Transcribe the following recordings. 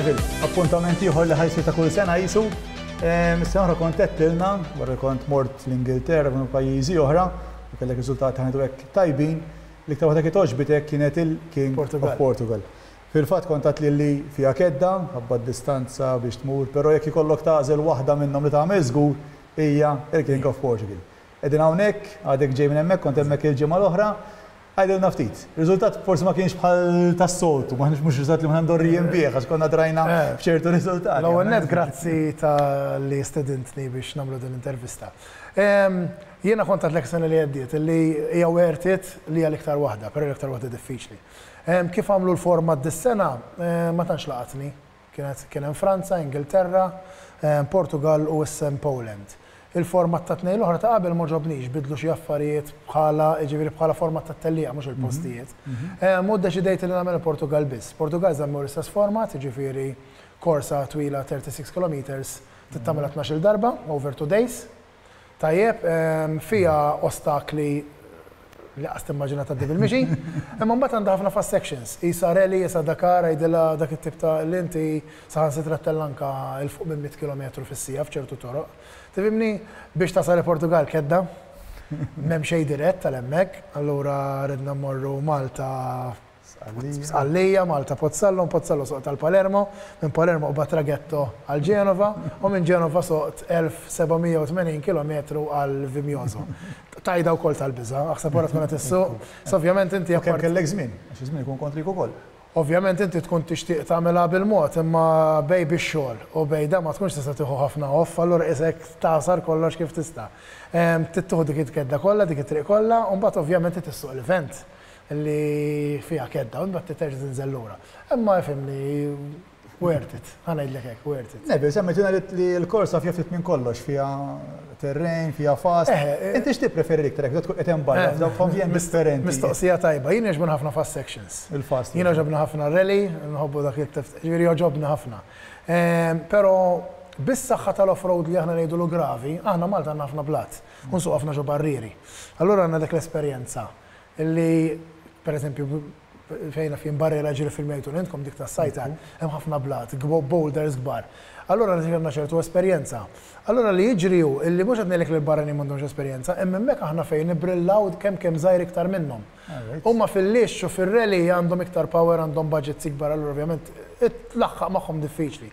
Neville, appuntament ieħor li ħa jsir ta' kull sena jisu. Is-sena oħra kont għedtilna, wara li kont mort l-Ingilterra u pajjiżi oħra, u kellek riżultati ħa ngħidu hekk tajbin, l-iktar waħda kienet għoġbitek kienet il-King of Portugal. Fil-fatt kont għedtli li fiha kedda, ħabba d-distanza biex tmur, però jekk ikollok tagħżel waħda minnhom li tagħmel żgur hija il-King of Portugal. Qegħdin hawnhekk, għadek ġej minn hemmhekk, kont hemmhekk il-ġimgħa l-oħra. Għidilna ftit. Riżultat forsi ma kienx bħal tas-soltu, maħniex mhux riżultat li aħna mdorrijin bih għax konna drajna b'ċertu riżultati. L-ewwel nett grazzi talli stedintni biex nagħmlu din l-intervista. Jiena kont għedtlek is-sena li għaddiet li hija worth it li hija l-iktar waħda, però hija l-iktar waħda diffiċli. Kif għamlu l-format dis-sena ma tantx laqatni. Kienet kien hemm Franza, Ingilterra, Portugal u issa hemm Poland. Il-format tat-tnejn l-oħra ta' qabel m'għoġobnix, bidlu xi affarijiet bħala, jiġifieri bħala format tat-tellieqa mhux il-postijiet. U ddeċidejt li nagħmel il-Portugal biss. Portugal żammew l-istess format, jiġifieri korsa twila 36 kilometres trid tagħmilha tnax-il darba over two days. Tajjeb, fiha ostakli li qas timmaġina tgħaddi bil-mixi, imma mbagħad għandha ħafna fast sections. Qisha rally, qisha Dakar, għidilha dak it-tip ta' li inti saħansitra ttella' anke 'l fuq minn 100 kilometru fis-siegħa f'ċertu toroq. Tifhimni? Biex tasal il-Portugall kedda, m'hemm xejn dirett għal hemmhekk, allura ridna mmorru Malta, Sqallija, Malta Pozzallo, minn Pozzallo soqt għal Palermo, minn Palermo qbadt traghetto għal Ġenova u minn Ġenova soqt 1780 kilometru għal Vimioso. Tajda wkoll tal-biża', aħseb wara tkun qed issuq. So ovvjament inti U kemm kellek żmien, għax iż-żmien ikun kontrik ukoll. Ovvjament inti tkun tixtieq tagħmilha bil-mod, imma bejn bix-xogħol u bejn dan ma tkunx tista' tieħu ħafna off, allura qisek tagħsar kollox kif tista'. Trid tieħu dik il-kedda kollha, dik it-triq kollha, u mbagħad ovvjament trid issuq l-event. li fiha kedda u mbagħad terġa' tinżel lura. Imma ifhimni, worth it, ħa ngħidlek hekk, worth it. Neville, semmejtilna li l-korsa fiha ftit minn kollox, fiha terrain, fiha fast. Inti x'tippreferi l-iktar jekk tkun qed hemm barra f'dawk f'ambjent differenti? Mistoqsija tajba. Jien jogħġbuni ħafna fast sections. Il-fast. Jien jogħġobni ħafna r-rally, nħobbu dak it-tip, jiġifieri jogħġobni ħafna. Però bis-saħħa tal-off-road li aħna ngħidulu gravi, aħna Malta għandna ħafna blat u nsuqu ħafna ġo barrieri. Allura għandna dik l-esperjenza. Li, per eżempju, fejn naf jien barriera ġieli filmjajtu intkom dik tas-sajtar, hemm ħafna blat, boulders kbar. Allura li għandna ċertu esperjenza. Allura li jiġri hu illi mhux qed ngħidlek li l-barranin m'għandhomx esperjenza, imma hemmhekk aħna fejn nibbrillaw kemm kemm żgħir iktar minnhom. Huma fil-lixx u fir-rally għandhom iktar power, għandhom budgets ikbar, allura ovvjament tlaħħaq magħhom diffiċli.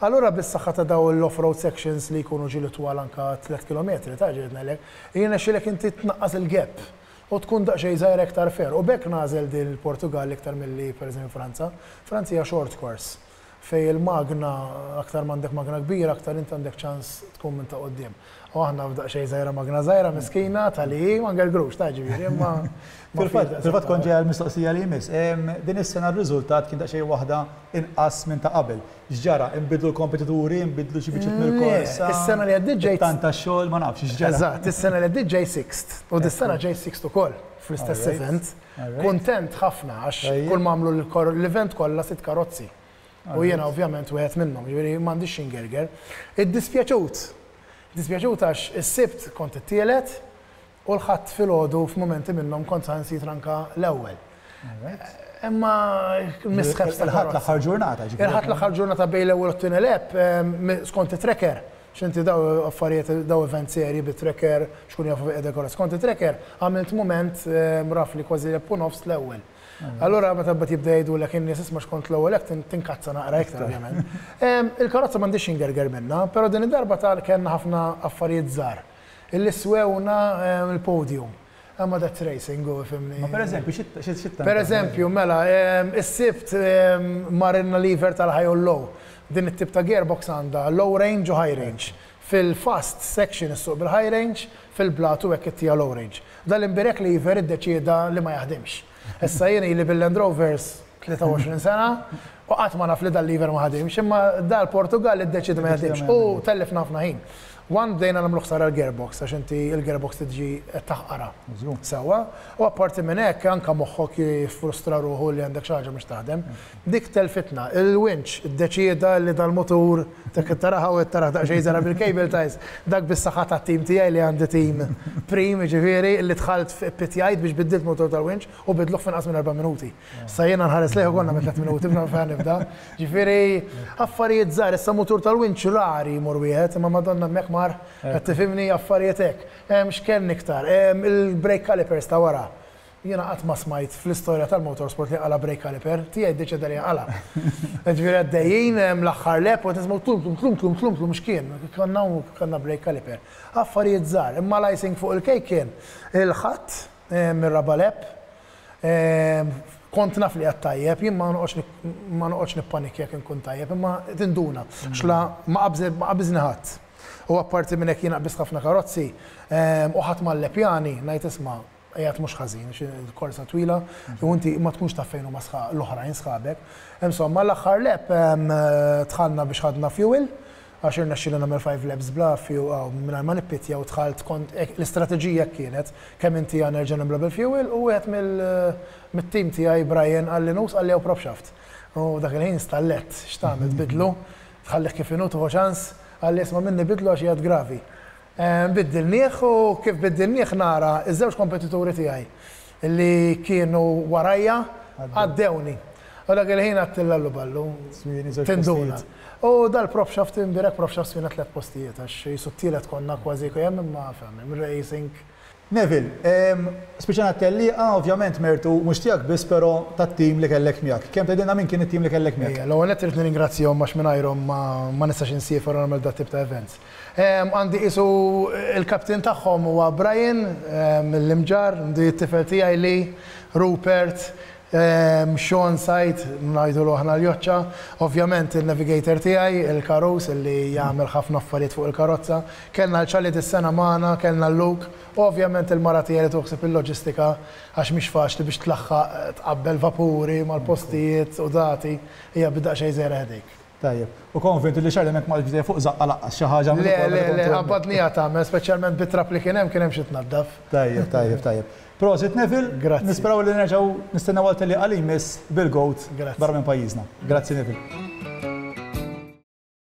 Allura bis-saħħa ta' dawn l-off-road sections li jkunu ġieli twal anke tlett kilometri, ta' ġieli ngħidlek, jirnexxielek inti tnaqqas il-gap. U tkun daqsxejn żgħira iktar fair. U b'hekk nagħżel din il-Portugall iktar milli pereżempju Franza. Franza hija short course, fejn il-magna, aktar m'għandek magna kbira, aktar inti għandek ċans tkun minn ta' quddiem. U aħna f'daqsxejn żgħira magna żgħira miskina tal-i ma ngergrux ta' ġifieri imma Fil-fatt, fil-fatt kont ġej għall-mistoqsija li jmiss. Din is-sena r-riżultat kien daqsxejn waħda inqas minn ta' qabel. X'ġara? Inbidlu l-kompetituri, inbidlu xi biċċiet mill-korsa? Le, is-sena li għaddiet ġejt. It-tant tax-xogħol, ma nafx x'ġara. Eżatt, is-sena li għaddiet ġej sixth u dis-sena ġej sixth ukoll fl-istess event. Kuntent ħafna għax kull ma għamlu l-event kollha sitt karozzi. U jiena ovvjament wieħed minnhom, jiġifieri m'għandix xi ngerger. Iddispjaċut. Iddispjaċut għax is-Sibt kont it-tielet U l-Ħadd filgħodu f'mumenti minnhom kont saħansitra anke l-ewwel. Imma misħebs ta' Il-Ħadd l-aħħar ġurnata, ġifieri. Il-Ħadd l-aħħar ġurnata bejn l-ewwel u t-tieni lap, skont it-tracker, għax inti daw affarijiet, daw events serji bit-tracker, biex ikunu jafu fejn qiegħda l-karozza. Skont it-tracker għamilt mument roughly kważi lap u nofs l-ewwel. Allura meta mbagħad jibda jgħidulek in-nies isma' x'kont l-ewwel hekk tinkazza naqra iktar ovvjament. Il-karozza m'għandix xi ngerger minnha, però din id-darba ta' kellna ħafna affarijiet żgħar. Illi swewna l-podium. Imma that's racing, u ifhimni. Ma pereżempju, xi xi Pereżempju, mela, is-Sibt marilna lever tal-high u l-low. Din it-tip ta' gearbox għandha low range u high range. Fil-fast section issuq bil-high range, fil-blat u hekk ittiha low range. Dal-imbierek lever iddeċieda li ma jaħdimx. Issa jien ili bil-Land Rovers 23 sena u qatt ma naf li dal-lever ma ħadimx, imma dal-Portugall iddeċieda ma jaħdimx u tellifna ħafna ħin. One bdejna nagħmlu ħsara l-gearbox għax inti il-gearbox tiġi qed taħqarha. Sewwa. U apparti minn hekk anke moħħok jiffrustra ruħu li għandek xi ħaġa mhux taħdem. Dik telfitna. Il-winch iddeċieda li dal-mutur dak taraha u qed tarah daqsxejn żgħira bil-cable ties, dak bis-saħħa tat-tim tiegħi li għandi tim prim jiġifieri li dħalt ppitjajt biex biddilt mutur tal-winch u bidluh f'inqas minn erba' minuti. Issa jiena nħares lejh u konna minn tlet minuti b'na fejn nibda. Ġifieri affarijiet żgħar, issa mutur tal-winch rari jmur wieħed, imma Madonna hemmhekk mar, qed tifhimni affarijiet hekk. X'kellni iktar? Il-brake calipers ta' wara. Jiena qatt ma smajt fl-istorja tal-motorsport li qala' brake caliper, tiegħi ddeċieda li jinqala'. Ġifieri għaddejjin l-aħħar lap u qed nisimgħu tlum tlum tlum tlum tlum tlum x'kien? Konna kellna brake caliper. Affarijiet żgħar, imma l-icing fuq il-cake kien il-Ħadd mir-raba' lap Kont naf li għad tajjeb, jien ma noqgħodx ma noqgħodx nippanikja jekk inkun tajjeb, imma tinduna għax la ma qabiżni ħadd. U apparti minn hekk jien qbiżt ħafna karozzi u ħadd ma llepjani, ngħid isma' qiegħed mhux ħażin għax il-korsa twila u inti ma tkunx taf fejn huma l-oħrajn sħabek. Insomma l-aħħar lap dħalna biex ħadna fuel Għax irnexxieli nagħmel 5 laps bla fuel mingħajr ma nippittja u dħalt kont l-istrateġija hekk kienet, kemm intiha nerġa' nimla bil-fuel u wieħed mill-tim tiegħi Brian qalli nus qalli hawn prop shaft. U dak il-ħin stallett, x'tagħmel tbiddlu? Tħallih kif inhu tieħu ċans? Qalli isma' minni biddlu għax qiegħed gravi. Biddilnieh u kif biddilnieh nara ż-żewġ kompetituri tiegħi li kienu warajja għaddewni. U dak il-ħin għedt allu ballu, tinduna. U dal-prop shaft imbierek prop shaft swina tlett postijiet għax qisu t-tielet konna kważi hemm imma fhem, racing. Neville, spiċċajna t-tellieqa, ovvjament mertu mhux tiegħek biss però tat-tim li kellek miegħek. Kemm tgħidilna min kien it-tim li kellek miegħek? Ejja, l-ewwel nett irrid nirringrazzjahom għax mingħajrhom ma nistax insiefer u nagħmel dat-tip ta' events. Għandi qisu il-captain tagħhom huwa Brian mill-Imġarr, għandi t-tifel tiegħi Lee, Rupert, Sean Said, ngħidulu aħna l-Joċċa, ovvjament in-navigator tiegħi, il-Karus illi jagħmel ħafna affarijiet fuq il-karozza. Kellna 'l Charlie dis-sena magħna, kellna 'l Luke, u ovvjament il-mara tiegħi li tieħu ħsieb il-loġistika għax mhix faċli biex tlaħħaq tqabbel vapuri mal-postijiet u dati, hija b'daqsxejn żgħira headache. Tajjeb. U konvint li Charlie hemmhekk ma qagħadx b'idejh fuq żaqqa laqqas xi ħaġa Le, le, le, qabadniha tagħmel, speċjalment bit-trab li kien hemm, kien hemm xi tnaddaf. Tajjeb, tajjeb, tajjeb. Prosit Neville. Grazzi. Nisperaw li nerġgħu nistennew għal tellieqa li jmiss bil-GOAT barra minn pajjiżna. Grazzi Neville.